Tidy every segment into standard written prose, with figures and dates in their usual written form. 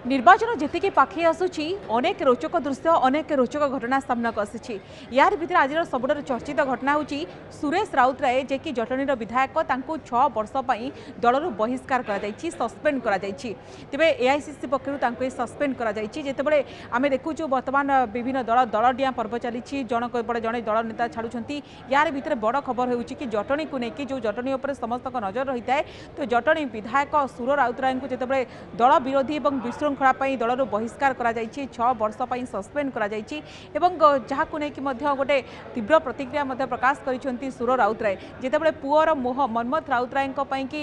ନିର୍ବାଚନ ଯେତିକି ପାଖେଇ ଆସୁଛି, ଅନେକ ରୋଚକ ଦୃଶ୍ୟ, ଅନେକ ରୋଚକ ଘଟଣା ସାମ୍ନାକୁ ଆସିଛି। ୟାର ଭିତରେ ଆଜିର ସବୁଠାରୁ ଚର୍ଚ୍ଚିତ ଘଟଣା ହେଉଛି ସୁରେଶ ରାଉତରାୟ, ଯିଏକି ଜଟଣୀର ବିଧାୟକ, ତାଙ୍କୁ 6 ବର୍ଷ ପାଇଁ ଦଳରୁ ବହିଷ୍କାର କରାଯାଇଛି, ସସ୍ପେଣ୍ଡ କରାଯାଇଛି। ତେବେ ଏଆଇସିସି ପକ୍ଷରୁ ତାଙ୍କୁ ଏ ସସ୍ପେଣ୍ଡ କରାଯାଇଛି। ଯେତେବେଳେ ଆମେ ଦେଖୁଛୁ, ବର୍ତ୍ତମାନ ବିଭିନ୍ନ ଦଳ ଦଳ ଡିଆଁ ପର୍ବ ଚାଲିଛି, ଜଣକ ପରେ ଜଣେ ଦଳ ନେତା ଛାଡ଼ୁଛନ୍ତି। ୟାର ଭିତରେ ବଡ଼ ଖବର ହେଉଛି କି ଜଟଣୀକୁ ନେଇକି, ଯେଉଁ ଜଟଣୀ ଉପରେ ସମସ୍ତଙ୍କ ନଜର ରହିଥାଏ, ତ ଜଟଣୀ ବିଧାୟକ ସୁର ରାଉତରାୟଙ୍କୁ ଯେତେବେଳେ ଦଳ ବିରୋଧୀ ଏବଂ ବିଶୃଙ୍ଖଳା ପାଇଁ ଦଳରୁ ବହିଷ୍କାର କରାଯାଇଛି, 6 ବର୍ଷ ପାଇଁ ସସ୍ପେଣ୍ଡ କରାଯାଇଛି ଏବଂ ଯାହାକୁ ନେଇକି ମଧ୍ୟ ଗୋଟେ ତୀବ୍ର ପ୍ରତିକ୍ରିୟା ମଧ୍ୟ ପ୍ରକାଶ କରିଛନ୍ତି ସୁର ରାଉତରାୟ। ଯେତେବେଳେ ପୁଅର ମୋହ ମନ୍ମଥ ରାଉତରାୟଙ୍କ ପାଇଁକି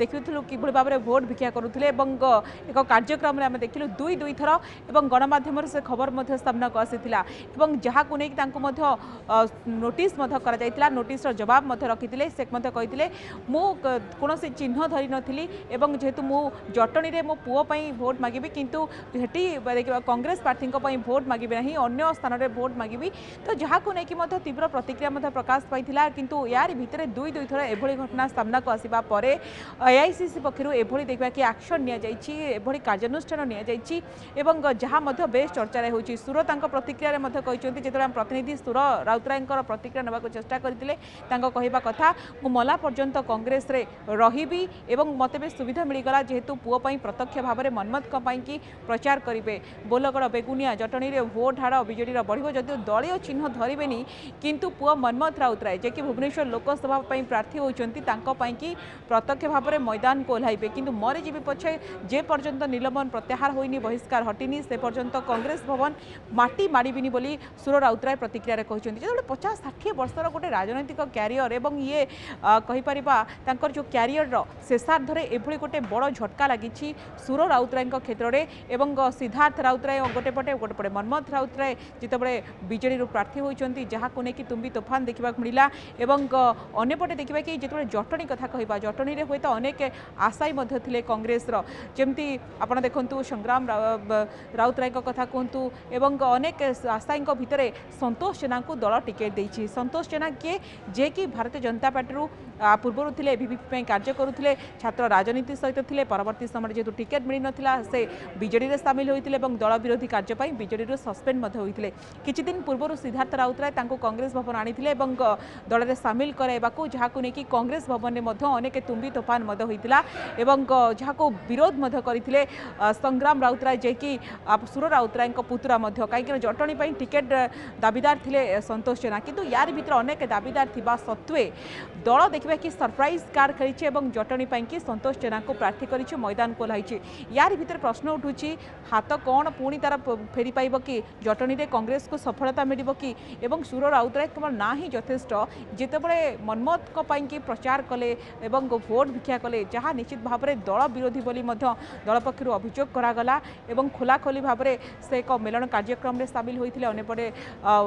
ଦେଖିଥିଲୁ କିଭଳି ଭାବରେ ଭୋଟ ଭିକ୍ଷା କରୁଥିଲେ ଏବଂ ଏକ କାର୍ଯ୍ୟକ୍ରମରେ ଆମେ ଦେଖିଲୁ ଦୁଇ ଦୁଇ ଥର ଏବଂ ଗଣମାଧ୍ୟମରେ ସେ ଖବର ମଧ୍ୟ ସାମ୍ନାକୁ ଆସିଥିଲା ଏବଂ ଯାହାକୁ ନେଇକି ତାଙ୍କୁ ମଧ୍ୟ ନୋଟିସ୍ ମଧ୍ୟ କରାଯାଇଥିଲା। ନୋଟିସ୍ର ଜବାବ ମଧ୍ୟ ରଖିଥିଲେ। ସେ ମଧ୍ୟ କହିଥିଲେ, ମୁଁ କୌଣସି ଚିହ୍ନ ଧରିନଥିଲି ଏବଂ ଯେହେତୁ ମୁଁ ଜଟଣୀରେ ମୋ ପୁଅ ପାଇଁ ଭୋଟ ମାଗିବି, କିନ୍ତୁ ସେଠି ଦେଖିବା କଂଗ୍ରେସ ପ୍ରାର୍ଥୀଙ୍କ ପାଇଁ ଭୋଟ ମାଗିବି ନାହିଁ, ଅନ୍ୟ ସ୍ଥାନରେ ଭୋଟ ମାଗିବି। ତ ଯାହାକୁ ନେଇକି ମଧ୍ୟ ତୀବ୍ର ପ୍ରତିକ୍ରିୟା ମଧ୍ୟ ପ୍ରକାଶ ପାଇଥିଲା। କିନ୍ତୁ ୟାରି ଭିତରେ ଦୁଇ ଦୁଇ ଥର ଏଭଳି ଘଟଣା ସାମ୍ନାକୁ ଆସିବା ପରେ ଏଆଇସିସି ପକ୍ଷରୁ ଏଭଳି ଦେଖିବା କି ଆକ୍ସନ୍ ନିଆଯାଇଛି, ଏଭଳି କାର୍ଯ୍ୟାନୁଷ୍ଠାନ ନିଆଯାଇଛି ଏବଂ ଯାହା ମଧ୍ୟ ବେଶ ଚର୍ଚ୍ଚାରେ ହେଉଛି। ସୁର ତାଙ୍କ ପ୍ରତିକ୍ରିୟାରେ ମଧ୍ୟ କହିଛନ୍ତି, ଯେତେବେଳେ ଆମ ପ୍ରତିନିଧି ସୁର ରାଉତରାୟଙ୍କର ପ୍ରତିକ୍ରିୟା ନେବାକୁ ଚେଷ୍ଟା କରିଥିଲେ, ତାଙ୍କ କହିବା କଥା, ମୁଁ ମଲା ପର୍ଯ୍ୟନ୍ତ କଂଗ୍ରେସରେ ରହିବି ଏବଂ ମୋତେ ବି ସୁବିଧା ମିଳିଗଲା, ଯେହେତୁ ପୁଅ ପାଇଁ ପ୍ରତ୍ୟକ୍ଷ ଭାବରେ ମନ୍ମଥଙ୍କ ପାଇଁକି ପ୍ରଚାର କରିବେ। ବୋଲଗଡ଼, ବେଗୁନିଆ, ଜଟଣୀରେ ଭୋଟ ହାର ବିଜେଡ଼ିର ବଢ଼ିବ। ଯଦିଓ ଦଳୀୟ ଚିହ୍ନ ଧରିବେନି, କିନ୍ତୁ ପୁଅ ମନ୍ମଥ ରାଉତରାୟ, ଯିଏକି ଭୁବନେଶ୍ୱର ଲୋକସଭା ପାଇଁ ପ୍ରାର୍ଥୀ ହୋଇଛନ୍ତି, ତାଙ୍କ ପାଇଁକି ପ୍ରତ୍ୟକ୍ଷ ଭାବରେ ମଇଦାନକୁ ଓହ୍ଲାଇବେ। କିନ୍ତୁ ମରିଯିବି ପଛେ, ଯେ ପର୍ଯ୍ୟନ୍ତ ନିଲମ୍ବନ ପ୍ରତ୍ୟାହାର ହୋଇନି, ବହିଷ୍କାର ହଟିନି, ସେ ପର୍ଯ୍ୟନ୍ତ କଂଗ୍ରେସ ଭବନ ମାଟି ମାଡ଼ିବିନି ବୋଲି ସୁର ରାଉତରାୟ ପ୍ରତିକ୍ରିୟାରେ କହିଛନ୍ତି। ଯେତେବେଳେ 50-60 ବର୍ଷର ଗୋଟେ ରାଜନୈତିକ କ୍ୟାରିୟର ଏବଂ ଇଏ କହିପାରିବା ତାଙ୍କର ଯେଉଁ କ୍ୟାରିୟରର ଶେଷାର୍ଦ୍ଧରେ ଏଭଳି ଗୋଟେ ବଡ଼ ଝଟକା ଲାଗିଛି ସୁର ରାଉତରାୟଙ୍କ କ୍ଷେତ୍ରରେ ଏବଂ ସିଦ୍ଧାର୍ଥ ରାଉତରାୟ ଗୋଟେ ପଟେ, ଗୋଟେ ପଟେ ମନ୍ମଥ ରାଉତରାୟ ଯେତେବେଳେ ବିଜେଡ଼ିରୁ ପ୍ରାର୍ଥୀ ହୋଇଛନ୍ତି, ଯାହାକୁ ନେଇକି ତୁମ୍ବି ତୋଫାନ ଦେଖିବାକୁ ମିଳିଲା। ଏବଂ ଅନ୍ୟପଟେ ଦେଖିବା କି ଯେତେବେଳେ ଜଟଣୀ କଥା କହିବା, ଜଟଣୀରେ ହୁଏତ ଅନେକ ଆଶାୟୀ ମଧ୍ୟ ଥିଲେ କଂଗ୍ରେସର। ଯେମିତି ଆପଣ ଦେଖନ୍ତୁ, ସଂଗ୍ରାମ ରାଉତରାୟଙ୍କ କଥା କୁହନ୍ତୁ ଏବଂ ଅନେକ ଆଶାୟୀଙ୍କ ଭିତରେ ସନ୍ତୋଷ ଜେନାଙ୍କୁ ଦଳ ଟିକେଟ୍ ଦେଇଛି। ସନ୍ତୋଷ ଜେନା କିଏ? ଯିଏକି ଭାରତୀୟ ଜନତା ପାର୍ଟିରୁ ପୂର୍ବରୁ ଥିଲେ, ଏବିଭିପି ପାଇଁ କାର୍ଯ୍ୟ କରୁଥିଲେ, ଛାତ୍ର ରାଜନୀତି ସହିତ ଥିଲେ। ପରବର୍ତ୍ତୀ ସମୟରେ ଯେହେତୁ ଟିକେଟ୍ ମିଳିନଥିଲା, ସେ ବିଜେଡ଼ିରେ ସାମିଲ ହୋଇଥିଲେ ଏବଂ ଦଳ ବିରୋଧୀ କାର୍ଯ୍ୟ ପାଇଁ ବିଜେଡ଼ିରୁ ସସ୍ପେଣ୍ଡ ମଧ୍ୟ ହୋଇଥିଲେ। କିଛି ଦିନ ପୂର୍ବରୁ ସିଦ୍ଧାର୍ଥ ରାଉତରାୟ ତାଙ୍କୁ କଂଗ୍ରେସ ଭବନ ଆଣିଥିଲେ ଏବଂ ଦଳରେ ସାମିଲ କରାଇବାକୁ, ଯାହାକୁ ନେଇକି କଂଗ୍ରେସ ଭବନରେ ମଧ୍ୟ ଅନେକ ତୁମ୍ବି ତୋଫାନ ମଧ୍ୟ ହୋଇଥିଲା ଏବଂ ଯାହାକୁ ବିରୋଧ ମଧ୍ୟ କରିଥିଲେ ସଂଗ୍ରାମ ରାଉତରାୟ, ଯିଏକି ସୁର ରାଉତରାୟଙ୍କ ପୁତୁରା ମଧ୍ୟ, କାହିଁକିନା ଜଟଣୀ ପାଇଁ ଟିକେଟ୍ ଦାବିଦାର ଥିଲେ ସନ୍ତୋଷ ଜେନା। କିନ୍ତୁ ୟାରି ଭିତରେ ଅନେକ ଦାବିଦାର ଥିବା ସତ୍ତ୍ୱେ ଦଳ ଦେଖିବା କି ସରପ୍ରାଇଜ୍ କାର୍ଡ ଖେଳିଛି ଏବଂ ଜଟଣୀ ପାଇଁକି ସନ୍ତୋଷ ଜେନାଙ୍କୁ ପ୍ରାର୍ଥୀ କରିଛି, ମଇଦାନକୁ ଓହ୍ଲାଇଛି। ୟାରି ଭିତରେ ପ୍ରଶ୍ନ ଉଠୁଛି, ହାତ କ'ଣ ପୁଣି ତାର ଫେରି ପାଇବ କି? ଜଟଣୀରେ କଂଗ୍ରେସକୁ ସଫଳତା ମିଳିବ କି? ଏବଂ ସୁର ରାଉତରାୟ କେବଳ ନା ହିଁ ଯଥେଷ୍ଟ, ଯେତେବେଳେ ମନ୍ମଥଙ୍କ ପାଇଁକି ପ୍ରଚାର କଲେ ଏବଂ ଭୋଟ ଭିକ୍ଷା କଲେ, ଯାହା ନିଶ୍ଚିତ ଭାବରେ ଦଳ ବିରୋଧୀ ବୋଲି ମଧ୍ୟ ଦଳ ପକ୍ଷରୁ ଅଭିଯୋଗ କରାଗଲା ଏବଂ ଖୋଲାଖୋଲି ଭାବରେ ସେ ଏକ ମେଳଣ କାର୍ଯ୍ୟକ୍ରମରେ ସାମିଲ ହୋଇଥିଲେ। ଅନ୍ୟପଟେ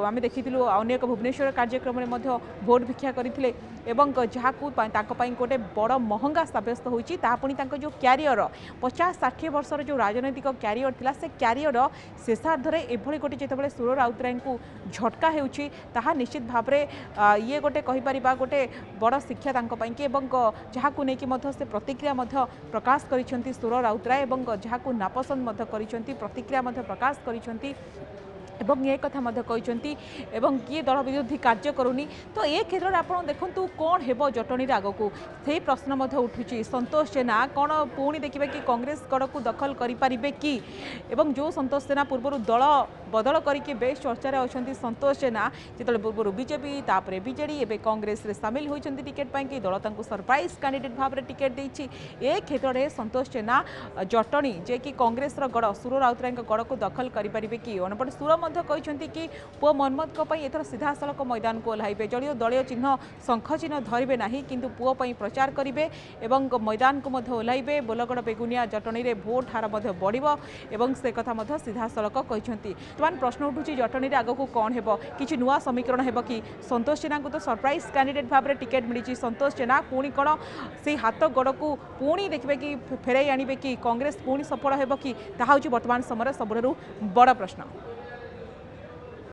ଆମେ ଦେଖିଥିଲୁ, ଅନ୍ୟ ଏକ ଭୁବନେଶ୍ୱର କାର୍ଯ୍ୟକ୍ରମରେ ମଧ୍ୟ ଭୋଟ ଭିକ୍ଷା କରିଥିଲେ ଏବଂ ଯାହାକୁ ତାଙ୍କ ପାଇଁ ଗୋଟେ ବଡ଼ ମହଙ୍ଗା ସାବ୍ୟସ୍ତ ହୋଇଛି। ତାହା ପୁଣି ତାଙ୍କ ଯେଉଁ କ୍ୟାରିୟର, 50-60 ବର୍ଷର ଯେଉଁ ରାଜନୈତିକ କ୍ୟାରିୟର ଥିଲା, ସେ କ୍ୟାରିୟର ଶେଷାର୍ଦ୍ଧରେ ଏଭଳି ଗୋଟେ ଯେତେବେଳେ ସୁର ରାଉତରାୟଙ୍କୁ ଝଟକା ହେଉଛି, ତାହା ନିଶ୍ଚିତ ଭାବରେ ଇଏ ଗୋଟେ କହିପାରିବା ଗୋଟେ ବଡ଼ ଶିକ୍ଷା ତାଙ୍କ ପାଇଁକି ଏବଂ ଯାହାକୁ ନେଇକି ମଧ୍ୟ ସେ ପ୍ରତିକ୍ରିୟା ମଧ୍ୟ ପ୍ରକାଶ କରିଛନ୍ତି ସୁର ରାଉତରାୟ ଏବଂ ଯାହାକୁ ନାପସନ୍ଦ ମଧ୍ୟ କରିଛନ୍ତି, ପ୍ରତିକ୍ରିୟା ମଧ୍ୟ ପ୍ରକାଶ କରିଛନ୍ତି ଏବଂ ଏ କଥା ମଧ୍ୟ କହିଛନ୍ତି ଏବଂ କିଏ ଦଳ ବିରୋଧୀ କାର୍ଯ୍ୟ କରୁନି। ତ ଏ କ୍ଷେତ୍ରରେ ଆପଣ ଦେଖନ୍ତୁ, କ'ଣ ହେବ ଜଟଣୀରେ ଆଗକୁ, ସେଇ ପ୍ରଶ୍ନ ମଧ୍ୟ ଉଠୁଛି। ସନ୍ତୋଷ ଜେନା କ'ଣ ପୁଣି ଦେଖିବେ କି କଂଗ୍ରେସ ଗଡ଼କୁ ଦଖଲ କରିପାରିବେ କି? ଏବଂ ଯେଉଁ ସନ୍ତୋଷ ଜେନା ପୂର୍ବରୁ ଦଳ ବଦଳ କରିକି ବେଶ ଚର୍ଚ୍ଚାରେ ଅଛନ୍ତି, ସନ୍ତୋଷ ଜେନା ଯେତେବେଳେ ପୂର୍ବରୁ ବିଜେପି, ତାପରେ ବିଜେଡ଼ି, ଏବେ କଂଗ୍ରେସରେ ସାମିଲ ହୋଇଛନ୍ତି ଟିକେଟ୍ ପାଇଁକି, ଦଳ ତାଙ୍କୁ ସରପ୍ରାଇଜ୍ କ୍ୟାଣ୍ଡିଡେଟ୍ ଭାବରେ ଟିକେଟ୍ ଦେଇଛି। ଏ କ୍ଷେତ୍ରରେ ସନ୍ତୋଷ ଜେନା ଜଟଣୀ, ଯିଏକି କଂଗ୍ରେସର ଗଡ଼, ସୁର ରାଉତରାୟଙ୍କ ଗଡ଼କୁ ଦଖଲ କରିପାରିବେ କି? ଅନ୍ୟପଟେ ସୁର ମଧ୍ୟ କହିଛନ୍ତି କି ପୁଅ ମନ୍ମଥଙ୍କ ପାଇଁ ଏଥର ସିଧାସଳଖ ମଇଦାନକୁ ଓହ୍ଲାଇବେ। ଯଦିଓ ଦଳୀୟ ଚିହ୍ନ ଶଙ୍ଖ ଚିହ୍ନ ଧରିବେ ନାହିଁ, କିନ୍ତୁ ପୁଅ ପାଇଁ ପ୍ରଚାର କରିବେ ଏବଂ ମଇଦାନକୁ ମଧ୍ୟ ଓହ୍ଲାଇବେ। ବୋଲଗଡ଼, ବେଗୁନିଆ, ଜଟଣୀରେ ଭୋଟ ହାର ମଧ୍ୟ ବଢ଼ିବ ଏବଂ ସେ କଥା ମଧ୍ୟ ସିଧାସଳଖ କହିଛନ୍ତି। ବର୍ତ୍ତମାନ ପ୍ରଶ୍ନ ଉଠୁଛି, ଜଟଣୀରେ ଆଗକୁ କ'ଣ ହେବ? କିଛି ନୂଆ ସମୀକରଣ ହେବ କି? ସନ୍ତୋଷ ଜେନାଙ୍କୁ ତ ସରପ୍ରାଇଜ୍ କ୍ୟାଣ୍ଡିଡେଟ୍ ଭାବରେ ଟିକେଟ୍ ମିଳିଛି। ସନ୍ତୋଷ ଜେନା ପୁଣି କ'ଣ ସେଇ ହାତ ଗଡ଼କୁ ପୁଣି ଦେଖିବେ କି, ଫେରାଇ ଆଣିବେ କି? କଂଗ୍ରେସ ପୁଣି ସଫଳ ହେବ କି? ତାହା ହେଉଛି ବର୍ତ୍ତମାନ ସମୟରେ ସବୁଠାରୁ ବଡ଼ ପ୍ରଶ୍ନ।